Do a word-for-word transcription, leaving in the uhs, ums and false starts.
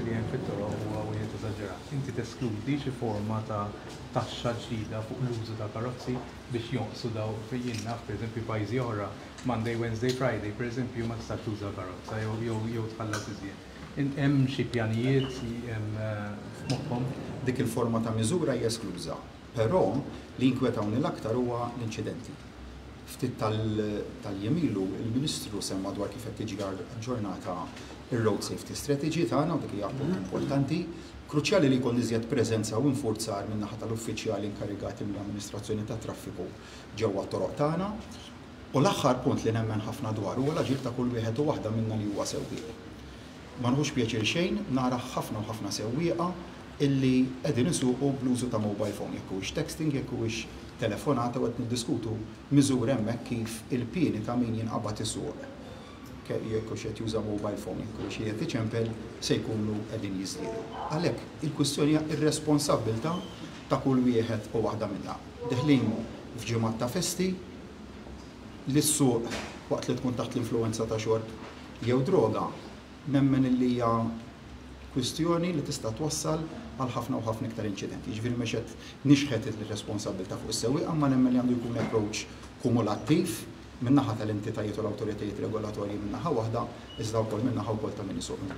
li hemm fit-toroq huwa wieħed eżaġerat. Inti teskludi xi forma ta' taxxa ġdida fuq l-użu ta' karozzi biex jonqsu daw jien naf, pereżempju, pajjiżi oħra, Monday, Wednesday, Friday, pereżempju, ma tistax tuża karozza jew jew jew tħallas iżjed. Hemm xi pjanijiet hemm f'moħħhom? Dik il-forma ta' miżura hija eskluża, però li jinkwetawni l-aktar huwa l-inċidenti. Ftit tal-jiem ilu il-Ministru semma dwar kif qed tiġi aġġornata ir-Road Safety Strategy tagħna, u dik hija punt importanti. Kruċjali li jkun iżjed preżenza u infurzar min-naħa tal-uffiċjali inkarigati mill-amministrazzjoni tat-traffiku ġewwa t-toroq tagħna. U l-aħħar punt li nemmen ħafna dwar huwa l-aġir ta' kull wieħed u waħda minna li huwa sewwieq. Ma nħux pjaċir xejn nara ħafna u ħafna sewwieqa illi qegħdin isuqu bl-użu ta' mobile phone, jekk huwiex texting, jekk huwiex telefonata, u qed niddiskutu miżur hemmhekk kif il-pieni ta' min jinqabad isuq jekk hux qed juża mobile phone, jekk hux qiegħed iċempel, se jkunu qegħdin jiżdiedu. Għalhekk il-kwistjoni hija ir-responsabbiltà ta' kull wieħed u waħda minna. Deħlin f'ġimgħat ta' festi, li ssuq waqt li tkun taħt l-influenza ta' xorb jew droga, nemmen li hija kwistjoni li tista' twassal għal ħafna u ħafna iktar inċidenti. Jiġifieri mhux qed nixħet ir-responsabbiltà fuq is-sewwieqa, ma nemmen li għandu jkun approach kumulattiv min-naħa tal-entitajiet u l-awtoritajiet regolatorji min-naħa waħda, iżda wkoll min-naħa wkoll ta' min isuq.